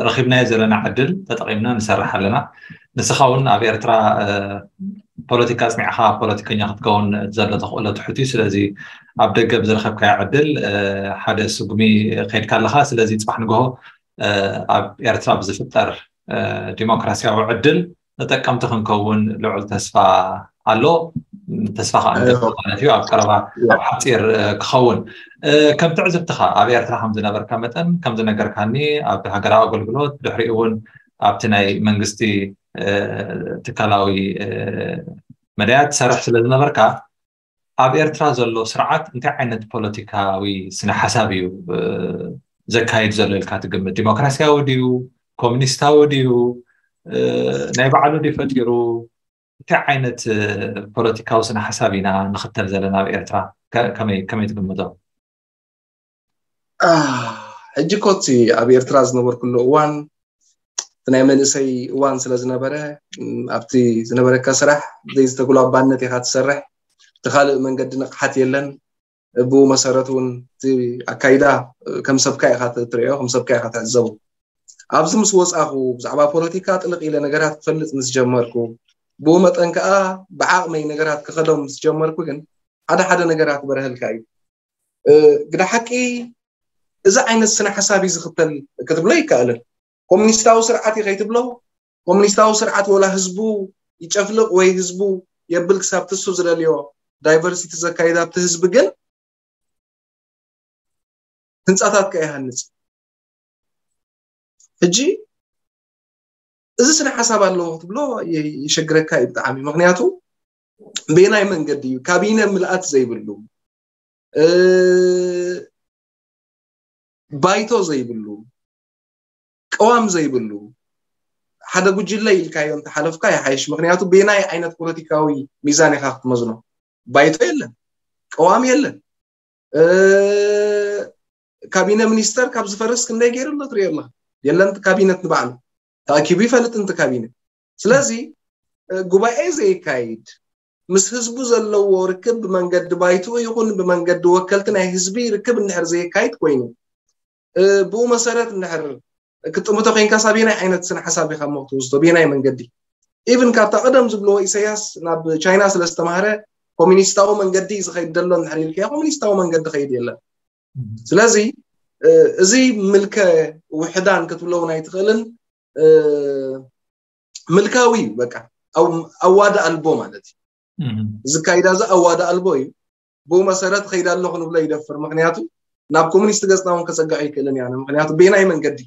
ረኺብናዮ ዘለና ዕድል ተጠቒምና ንሰርሕ ኣለና። ንስኻ እውን ኣብ ኤርትራ ፖለቲካ ኣፅኒዕኻ ፖለቲከኛ ክትከውን ዘሎ ተኽእሎ ትሑት እዩ። ስለዚ ኣብ ደገ ብዝረኸብካዮ ዕድል ሓደ ስጉሚ ከይድካ ኣለኻ። ስለዚ ፅባሕ ንግሆ ኣብ ኤርትራ ብዝፍጠር ዲሞክራሲያዊ ዕድል ተጠቀምቲ ክንከውን ልዑል ተስፋ ኣሎ። ተስፋ ከዓ ማለት እዩ ኣብ ቀረባ ኣብ ሓፂር ክኸውን። ከም ትዕዝብትኻ ኣብ ኤርትራ ከም ዝነበርካ መጠን ከም ዝነገርካኒ ኣብ ሃገራዊ ኣገልግሎት ድሕሪኡ እውን ኣብቲ ናይ መንግስቲ ትካላዊ መዳያት ትሰርሕ ስለ ዝነበርካ ኣብ ኤርትራ ዘሎ ስርዓት እንታይ ዓይነት ፖለቲካዊ ስነ ሓሳብ እዩ ዘካይድ ዘሎ ኢልካ ትግምት? ዲሞክራሲያዊ ድዩ? ኮሚኒስታዊ ድዩ? ናይ ባዕሉ ድዩ ፈጢሩ? እንታይ ዓይነት ፖለቲካዊ ስነ ሓሳብ ኢና ንኽተል ዘለና ኣብ ኤርትራ? ከመይ ትግምቶ? ሕጂ ኮቲ ኣብ ኤርትራ ዝነበርኩሉ እዋን እቲ ናይ መንእሰይ እዋን ስለ ዝነበረ ኣብቲ ዝነበረካ ስራሕ ዘይዝተግሎ ኣባነት ኢኻ ትሰርሕ። እቲ ካልእ መንገዲ ንቕሓት የለን። ብኡ መሰረት እውን እቲ ኣካይዳ ከም ሰብካ ኢኻ ትሪኦ፣ ከም ሰብካ ኢኻ ትዕዘቡ። ኣብዚ ምስ ወፃኹ ብዛዕባ ፖለቲካ ጥልቕ ኢለ ነገራት ክፈልጥ ምስ ጀመርኩ፣ ብኡ መጠን ከዓ ብዓቕመይ ነገራት ክኸዶም ምስ ጀመርኩ ግን ሓደ ሓደ ነገራት በረህልካ እዩ። ግዳ ሓቂ እዚ ዓይነት ስነ ሓሳብ እዩ ዝኽተል ክትብሎ ይከኣልን። ኮሚኒስታዊ ስርዓት እዩ ከይትብሎ፣ ኮሚኒስታዊ ስርዓት ወላ ህዝቡ ይጨፍልቕ ወይ ህዝቡ የብል ክሳብ ትሱ ዝደልዮ ዳይቨርሲቲ ዘካይድ ኣብቲ ህዝቢ ግን ህንፃታት ከይሃንፅ። ሕጂ እዚ ስነ ሓሳብ ኣለዎ ክትብሎ ይሸግረካ እዩ ብጣዕሚ። ምክንያቱ በየናይ መንገዲ እዩ? ካቢነ ምልኣት ዘይብሉ፣ ባይቶ ዘይብሉ፣ ቅዋም ዘይብሉ ሓደ ጉጅለ ኢልካዮ እንተሓለፍካ ይሓይሽ። ምክንያቱ በየናይ ዓይነት ፖለቲካዊ ሚዛን ኢካ ክትመዝኖ? ባይቶ የለን፣ ቅዋም የለን። ካቢነ ሚኒስተር ካብ ዝፈርስ ክንደይ ገይሩ ኣሎ ትሪኦ ኣለካ። የለን፣ እቲ ካቢነት ንባዕሉ ተኣኪቡ ይፈልጥ፣ እንት ካቢነ። ስለዚ ጉባኤ ዘየካይድ፣ ምስ ህዝቡ ዘለዎ ርክብ ብመንገዲ ባይትኡ ይኹን ብመንገዲ ወከልቲ ናይ ህዝቢ ርክብ እንድሕር ዘየካይድ ኮይኑ፣ ብኡ መሰረት እንድሕር ክትጥምቶ ኮይንካ ሳቤናይ ዓይነት ስነ ሓሳብ ኢካ እሞ ክትወስዶ ብየናይ መንገዲ? ኢቭን ካብታ ቀደም ዝብልዎ ኢሳያስ ናብ ቻይና ስለ ዝተማህረ ኮሚኒስታዊ መንገዲ እዩ ዝኸይድ ዘሎ እንድሕር ኢልካዮ ኮሚኒስታዊ መንገዲ ኸይድ የለን። ስለዚ እዚ ምልከ ውሕዳን ክትብሎ እውን ኣይትኽእልን። ምልካዊ እዩ በቃ፣ ኣዋዳ ኣልቦ ማለት እዩ። ዝካይዳ እዚ ኣዋዳ ኣልቦ እዩ። ብኡ መሰረት ኸይዳ ኣሎ ክንብሎ ይደፍር። ምክንያቱ ናብ ኮሚኒስት ገፅና እውን ከፀግዖ ይክእልን ኢና። ምክንያቱ ቤናይ መንገዲ፣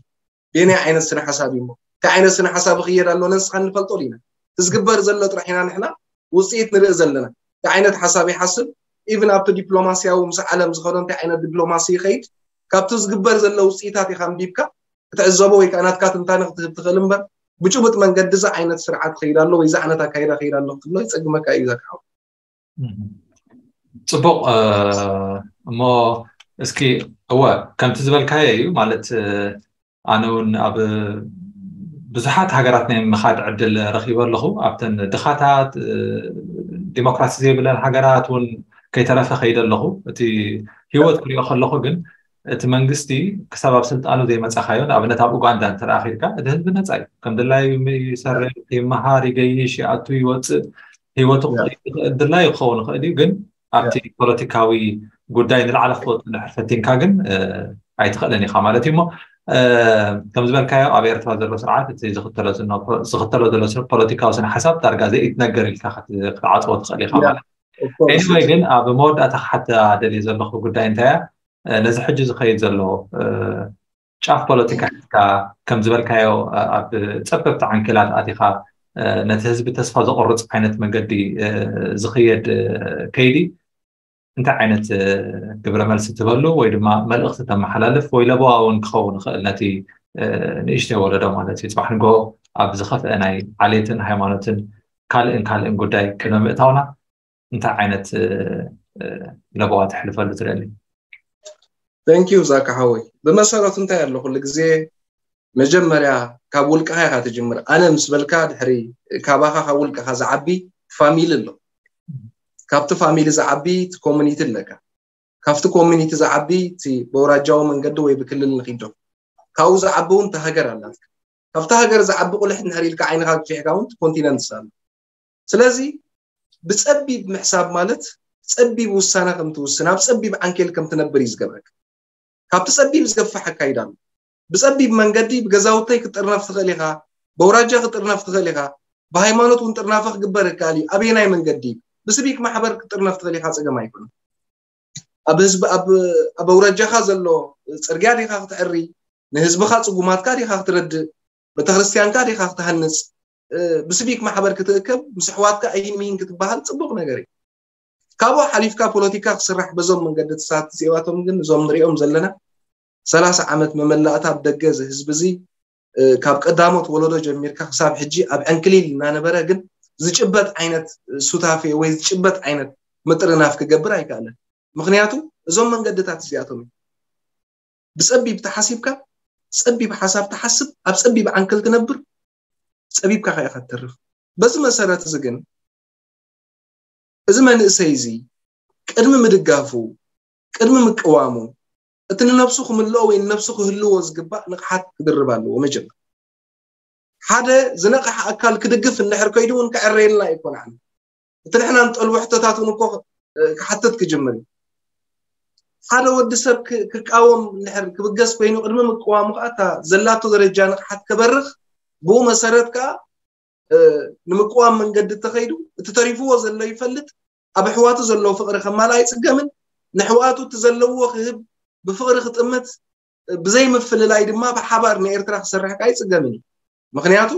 ቤናይ ዓይነት ስነ ሓሳብ እዩ። እንታይ ዓይነት ስነ ሓሳብ ይኽየድ ኣሎ ነንስኻ እንፈልጦ ኢና። እቲ ዝግበር ዘሎ ጥራሕ ኢና ንሕና ውፅኢት ንርኢ ዘለና። እንታይ ዓይነት ሓሳብ ይሓስብ፣ ኢቭን ኣብቲ ዲፕሎማሲያዊ ምስ ዓለም ዝኸዶ እንታይ ዓይነት ዲፕሎማሲ ይኸይድ፣ ካብቲ ዝግበር ዘሎ ውፅኢታት ኢኻ ኣንቢብካ ክትዕዘቦ ወይ ከዓ ናትካ ትንታነ ክትህብ ትኽእል እምበር ብጭቡጥ መንገዲ እዚ ዓይነት ስርዓት ኸይድ ኣሎ ወይ እዚ ዓይነት ኣካይዳ ኸይድ ኣሎ ክትብሎ ይፀግመካ እዩ ዘካው። ፅቡቕ። እሞ እስኪ እወ ከምቲ ዝበልካዮ እዩ ማለት ኣነ እውን ኣብ ብዙሓት ሃገራት ናይ ምኻድ ዕድል ረኺበ ኣለኹ። ኣብተን ድኻታት ዲሞክራሲ ዘይብለን ሃገራት እውን ከይተረፈ ከይደ ኣለኹ። እቲ ህይወት ክሪኦ ከለኹ ግን እቲ መንግስቲ ክሳብ ኣብ ስልጣኑ ዘይመፃኻዮ ንኣብነት ኣብ ኡጋንዳ እንተረኣኺድካ እቲ ህዝቢ ነፃ እዩ። ከም ድላዩ ይሰርሕ፣ ይመሃር፣ ይገይሽ፣ ይኣቱ፣ ይወፅእ፣ ህይወቱ ድላዩ ክኸውን ይኽእል እዩ። ግን ኣብቲ ፖለቲካዊ ጉዳይ ንላዕሊ ክትወፅእ እንድሕር ፈቲንካ ግን ኣይትኽእልን ኢኻ ማለት እዩ። እሞ ከም ዝበልካዮ ኣብ ኤርትራ ዘሎ ስርዓት እቲ ዝኽተሎ ዘሎ ፖለቲካዊ ስነ ሓሳብ ዳርጋ ዘይትነገር ኢልካ ክትዓፅዎ ትኽእል ኢኻ ማለት እዩ። ኤኒወይ ግን ኣብ መወዳእታ ክሓታ ደልየ ዘለኹ ጉዳይ እንታይ እያ? ነዚ ሕጂ ዝኸይድ ዘሎ ጫፍ ፖለቲካ ሒዝካ ከም ዝበልካዮ ኣብ ፀበብቲ ዓንኬላት ኣቲኻ ነቲ ህዝቢ ተስፋ ዘቆርፅ ዓይነት መንገዲ ዝኽየድ ከይዲ እንታይ ዓይነት ግብረ መልሲ ትበሉ ወይ ድማ መልእኽቲ ተመሓላልፍ ወይ ለበዋ እውን ክኸውን ይኽእል ነቲ ንእሽተይ ወለዶ ማለት እዩ። ፅባሕ ንግሆ ኣብ ዝኸፍአ ናይ ዓሌትን ሃይማኖትን ካልእን ካልእን ጉዳይ ቅድሚ ምእታውና እንታይ ዓይነት ለበዋ ተሕልፈሉ ትደሊ? Thank you ዛካ ሓወይ። ብመሰረቱ እንታይ ኣሎ ኩሉ ግዜ መጀመርያ ካብ ውልቅኻ ኢኻ ትጅምር። ኣነ ምስ በልካ ድሕሪ ካባኻ ካብ ውልቅኻ ዝዓቢ ፋሚሊ ኣሎ። ካብቲ ፋሚሊ ዝዓቢ እቲ ኮሚኒቲ ኣለካ። ካብቲ ኮሚኒቲ ዝዓቢ እቲ በውራጃዊ መንገዲ ወይ ብክልል ንኪዶ ካብኡ ዝዓቢ እውን እቲ ሃገር ኣላትካ። ካብቲ ሃገር ዝዓቢ ቁልሕ እንድሕር ኢልካ ዓይንኻ ግፊሕካ እውን ኮንቲነንትስ ኣሎ። ስለዚ ብፀቢብ ምሕሳብ ማለት ፀቢብ ውሳነ ከም ትውስን ኣብ ፀቢብ ዓንኬል ከም ትነብር እዩ ዝገብረካ። ካብቲ ፀቢብ ዝገፍሕ ኣካይዳ ኣሎ። ብፀቢብ መንገዲ ብገዛውተይ ክትጥርነፍ ትኽእል ኢኻ፣ በውራጃ ክትጥርነፍ ትኽእል ኢኻ፣ ብሃይማኖት እውን ጥርናፈ ክግበር ይከኣል እዩ። ኣበየናይ መንገዲ? ብስቢክ ማሕበር ክትጥርነፍ ትኽእል ኢኻ፣ ፀገም ኣይኮነን። ኣብ ህዝቢ ኣብ ኣውራጃኻ ዘሎ ፅርግያ ዲኻ ክትዕሪ፣ ንህዝብኻ ፅጉማትካ ዲኻ ክትረድእ፣ ቤተክርስትያንካ ዲኻ ክትሃንፅ፣ ብስቢክ ማሕበር ክትእከብ ምስ ኣሕዋትካ ኣይን ምሂን ክትበሃል ፅቡቅ ነገር እዩ። ካብኡ ሓሊፍካ ፖለቲካ ክስራሕ በዞም መንገድታት እዚኣቶም ግን እዞም ንሪኦም ዘለና ሰላሳ ዓመት መመላእታ ኣብ ደገ እዚ ህዝቢ እዚ ካብ ቀዳሞት ወለዶ ጀሚርካ ክሳብ ሕጂ ኣብ ዕንክሊል እናነበረ ግን ዝጭበጥ ዓይነት ሱታፌ ወይ ዝጭበጥ ዓይነት ምጥርናፍ ክገብር ኣይከኣለን። ምክንያቱ እዞም መንገድታት እዚኣቶም እዩ። ብፀቢብ ተሓሲብካ፣ ፀቢብ ሓሳብ ትሓስብ፣ ኣብ ፀቢብ ዓንክል ትነብር፣ ፀቢብካ ከ ኢኻ ትተርፍ። በዚ መሰረት እዚ ግን እዚ መንእሰይ እዚ ቅድሚ ምድጋፉ፣ ቅድሚ ምቅዋሙ፣ እቲ ንነብሱ ክምልኦ ወይ ንነብሱ ክህልዎ ዝግባእ ንቕሓት ክድርብ ኣለዎ። መጀመር ሓደ ዝነቕሐ ኣካል ክድግፍ እንድሕር ከይዱ እውን ክዕረየልና ኣይኮን። እቲ ንሕና ንጠልቦ ሕቶታት እውን እኮ ክሓትት ክጅምር እዩ። ሓደ ወዲ ሰብ ክቃወም እንድሕር ክብገስ ኮይኑ ቅድሚ ምቅዋሙ ከዓ እታ ዘላቶ ደረጃ ንቕሓት ከበርኽ፣ ብኡ መሰረት ከዓ ንምቅዋም መንገዲ እተኸይዱ፣ እቲ ተሪፍዎ ዘሎ ይፈልጥ፣ ኣብ ኣሕዋቱ ዘሎ ፍቕሪ ከማልእ ኣይጽገምን፣ ንኣሕዋቱ እቲ ዘለዎ ክህብ፣ ብፍቕሪ ክጥምት፣ ብዘይ ምፍልላይ ድማ ብሓባር ንኤርትራ ክሰርሕ ከዓ ኣይጽገምን እዩ። ምኽንያቱ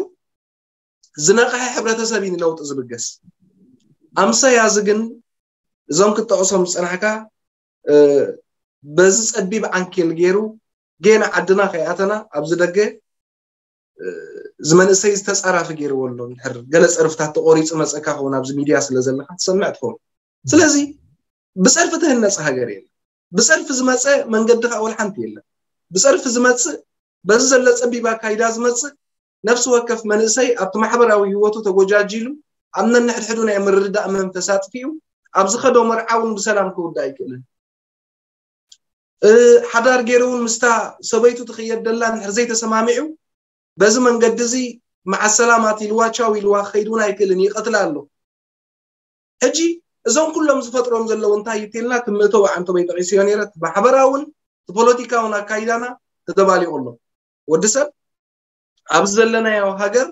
ዝነቕሐ ሕብረተሰብ እዩ ንለውጢ ዝብገስ። ኣምሰያ እዚ ግን እዞም ክትጠቕሶም ዝጸናሕካ በዚ ጸቢብ ዓንኬል ገይሩ ጌና ዓድና ከይኣተና ኣብዚ ደገ እዚ መንእሰይ ዝተጻራፊ ገይርዎ ኣሎ። እንድሕር ገለ ጸርፍታት ተቆሪጹ መጸካ ክኸውን ኣብዚ ሚድያ ስለ ዘለካ ትሰምዕ ትኸውን። ስለዚ ብጸርፊ ትህነጽ ሃገር የለን። ብጸርፊ ዝመጸ መንገዲ ከዓ ወላ ሓንቲ የለን። ብጸርፊ ዝመጽእ በዚ ዘሎ ጸቢብ ኣካይዳ ዝመጽእ ነፍሲ ወከፍ መንእሰይ ኣብቲ ማሕበራዊ ህይወቱ ተጎጃጂሉ ኣብ ነንሕድሕዱ ናይ ምርድዳእ መንፈስ ኣጥፊኡ ኣብ ዝኸዶ መርዓ እውን ብሰላም ክውዳእ ኣይክእልን። ሓዳር ገይሩ እውን ምስታ ሰበይቱ ትኽየድ ደላ እንድሕር ዘይተሰማሚዑ በዚ መንገዲ እዚ መዓ ሰላማት ኢልዋ ቻው ኢልዋ ክኸይድ እውን ኣይክእልን፣ ይቐትላ ኣሎ። ሕጂ እዞም ኩሎም ዝፈጥሮም ዘለዉ እንታይ ይትልና ትምእተው ዓንተበይ ጠቒስዮ ነይረ። እቲ ማሕበራውን እቲ ፖለቲካውን ኣካይዳና ተደባሊቑ ኣሎ። ወዲ ሰብ ኣብዚ ዘለናዮ ሃገር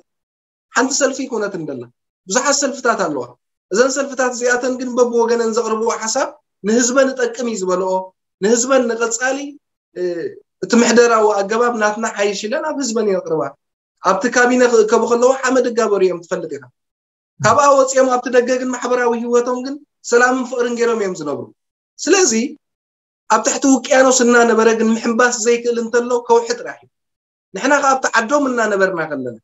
ሓንቲ ሰልፊ ይኮነትን ደላ፣ ብዙሓት ሰልፍታት ኣለዋ። እዘን ሰልፍታት እዚኣተን ግን በብወገነን ዘቕርብዎ ሓሳብ ንህዝበን እጠቅም እዩ ዝበልኦ፣ ንህዝበን ንቐጻሊ እቲ ምሕደራዊ ኣገባብ ናትና ሓይሽ ኢለን ኣብ ህዝበን የቕርባ። ኣብቲ ካቢነ ክእከቡ ከለዉ ሓመድ እጋበሩ እዮም ትፈልጥ ኢኻ። ካብኣ ወፂኦም ኣብቲ ደገ ግን ማሕበራዊ ህይወቶም ግን ሰላምን ፍቕርን ገይሮም እዮም ዝነብሩ። ስለዚ ኣብ ትሕቲ ውቅያኖስ እናነበረ ግን ምሕንባስ ዘይክእል እንተሎ ከውሒ ጥራሕ እዩ። ንሕና ከኣ ኣብቲ ዓዶም እናነበርና ከለና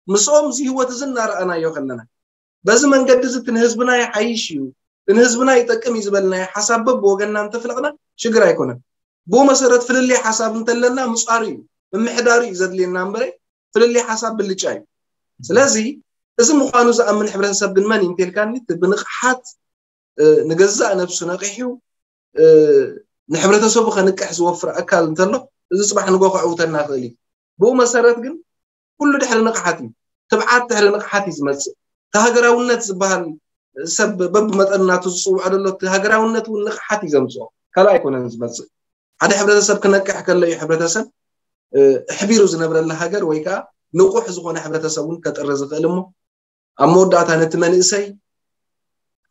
ምስኦም እዚ ህይወት እዚ እናረኣናዮ ከለና በዚ መንገዲ እዚ እቲ ንህዝብና ይሓይሽ እዩ፣ እቲ ንህዝብና ይጠቅም እዩ ዝበልናዮ ሓሳብ በብወገንና እንተፍለቕና ሽግር ኣይኮነን። ብኡ መሰረት ፍልልይ ሓሳብ እንተለና ምጻሩ እዩ፣ ምምሕዳሩ እዩ ዘድልየና እምበረ ፍልልይ ሓሳብ ብልጫ እዩ። ስለዚ እዚ ምዃኑ ዝኣምን ሕብረተሰብ ግን መን እዩ እንተልካኒ እቲ ብንቕሓት ንገዛእ ነብሱ ነቒሑ ንሕብረተሰቡ ከንቅሕ ዝወፍር ኣካል እንተሎ እዚ ፅባሕ ንጎ ከዕውተና ይኽእል እዩ። ብኡ መሰረት ግን ኩሉ ድሕሪ ንቕሓት እዩ። ትብዓት ድሕሪ ንቕሓት እዩ ዝመፅእ። እቲ ሃገራውነት ዝበሃል ሰብ በብመጠን ናቱ ዝፅውዖ ዘሎ እቲ ሃገራውነት እውን ንቕሓት እዩ ዘምፅኦ፣ ካልእ ኣይኮነን ዝመፅእ። ሓደ ሕብረተሰብ ክነቅሕ ከሎ እዩ ሕብረተሰብ ኣሕቢሩ ዝነብረላ ሃገር ወይ ከዓ ንቑሕ ዝኾነ ሕብረተሰብ እውን ከጥሪ ዝኽእል እሞ ኣብ መወዳእታ ነቲ መንእሰይ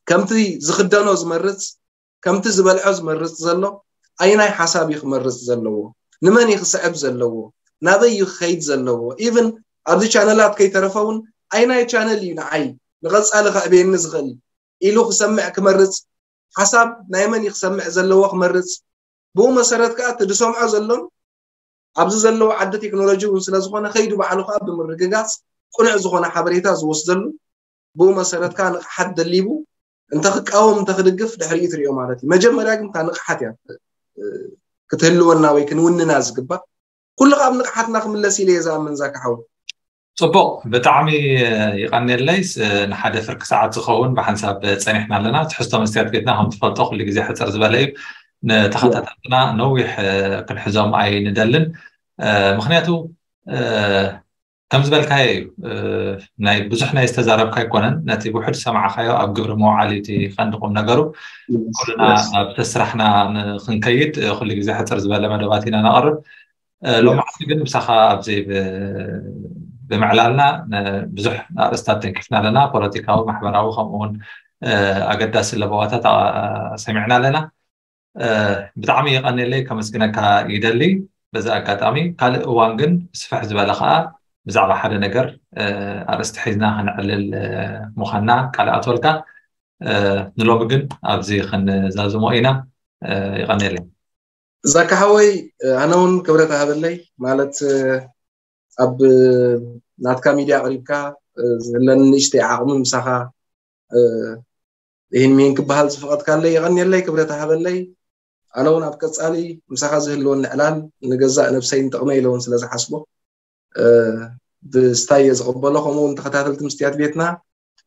ከምቲ ዝኽደኖ ዝመርጽ ከምቲ ዝበልዖ ዝመርጽ ዘሎ ኣይናይ ሓሳብ እዩ ክመርጽ ዘለዎ፣ ንመን እዩ ክስዕብ ዘለዎ፣ ናበይ እዩ ክኸይድ ዘለዎ። ኢቭን ኣብዚ ቻነላት ከይተረፈ እውን ኣይናይ ቻነል እዩ ንዓይ ንቐጻሊ ከዕብየኒ ዝኽእል ኢሉ ክሰምዕ ክመርጽ፣ ሓሳብ ናይ መን እዩ ክሰምዕ ዘለዎ ክመርጽ። ብኡ መሰረት ከዓ እቲ ዝሰምዖ ዘሎን ኣብዚ ዘለዎ ዓዲ ቴክኖሎጂ እውን ስለ ዝኾነ ከይዱ ባዕሉ ከዓ ብምርግጋፅ ቅኑዕ ዝኾነ ሓበሬታ ዝወስደሉ ብኡ መሰረት ከዓ ንቕሓት ደሊቡ እንተ ክቃወም እንተ ክድግፍ ድሕሪኡ ትሪኦ ማለት እዩ። መጀመርያ ግን እታ ንቕሓት እያ ክትህልወና ወይ ክንውንና ዝግባእ። ኩሉ ካብ ንቕሓትና ክምለስ ኢለ እየ ዝኣምን ዛካ ሓው። ፅቡቕ፣ ብጣዕሚ ይቐንየለይ። ንሓደ ፍርቂ ሰዓት ዝኸውን ብሓንሳብ ፀኒሕና ኣለና። ትሕዝቶ መስትያት ቤትና ከም ትፈልጦ ኩሉ ግዜ ሕፅር ዝበለ እዩ። ንተኸታተልትና ነዊሕ ክንሕዞም ኣይንደልን። ምክንያቱ ከም ዝበልካዮ እዩ፣ ናይ ብዙሕ ናይ ዝተዛረብካ ኣይኮነን። ነቲ ውሑድ ዝሰማዕካዮ ኣብ ግብሪ ምውዓል እዩ እቲ ቀንዲ ቁም ነገሩ። ኩልና ናብ ስራሕና ንክንከይድ ኩሉ ግዜ ሕፅር ዝበለ መደባት ኢና ነቕርብ። ሎማዓንቲ ግን ምሳኻ ኣብዚ ብምዕላልና ብዙሕ ኣርእስታት ተንኪፍና ኣለና። ፖለቲካዊ፣ ማሕበራዊ ከምኡ እውን ኣገዳሲ ለበዋታት ሰሚዕና ኣለና። ብጣዕሚ የቐንየለይ፣ ከመስግነካ ይደሊ። በዚ ኣጋጣሚ ካልእ እዋን ግን ስፍሕ ዝበለ ከዓ ብዛዕባ ሓደ ነገር ኣርእስቲ ሒዝና ክንዕልል ምዃንና ቃል ኣትወልካ። ንሎሚ ግን ኣብዚ ክንዛዝሞ ኢና። ይቐንየለይ። ዛካ ሓወይ፣ ኣነ እውን ክብረት ሃበለይ። ማለት ኣብ ናትካ ሚድያ ኣቕሪብካ ዝህለኒ ንእሽተይ ዓቕሚ ምሳኻ ይህን ሚህን ክበሃል ዝፈቐድካለይ የቐንየለይ፣ ክብረት ሃበለይ። ኣነ እውን ኣብ ቀፃሊ ምሳኻ ዝህልወኒ ዕላል ንገዛእ ነብሰይን ጥቕመይ ኢለ እውን ስለ ዝሓስቦ ብስታይ እየ ዝቕበሎ። ከምኡ እውን ተኸታተልቲ ምስትያት ቤትና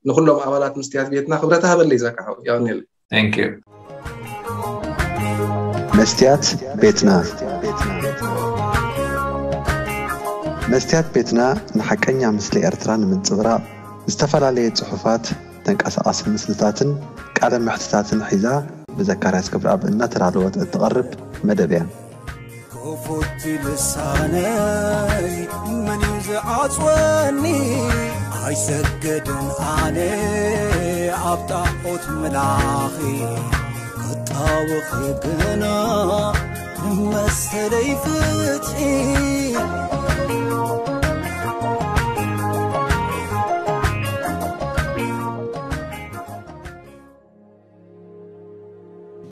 ንኩሎም ኣባላት መስትያት ቤትና ክብረት ሃበለይ ዛካ ሓው። የቐንየለይ። Thank you። መስትያት ቤትና። መስትያት ቤትና ንሓቀኛ ምስሊ ኤርትራ ንምንጽብራቕ ዝተፈላለየ ጽሑፋት፣ ተንቀሳቓሲ ምስልታትን ቃለ መሕትታትን ሒዛ ብዘካርያስ ገብረኣብ እናተዳለወት እትቐርብ መደብ እያ። ክፉት ልሳነይ መን እዩ ዝዓጽወኒ? ኣይሰግድን ኣነ ኣብ ጣዖት ምላኺ ክጣወኺ ግና ንመሰለይ ፍትሒ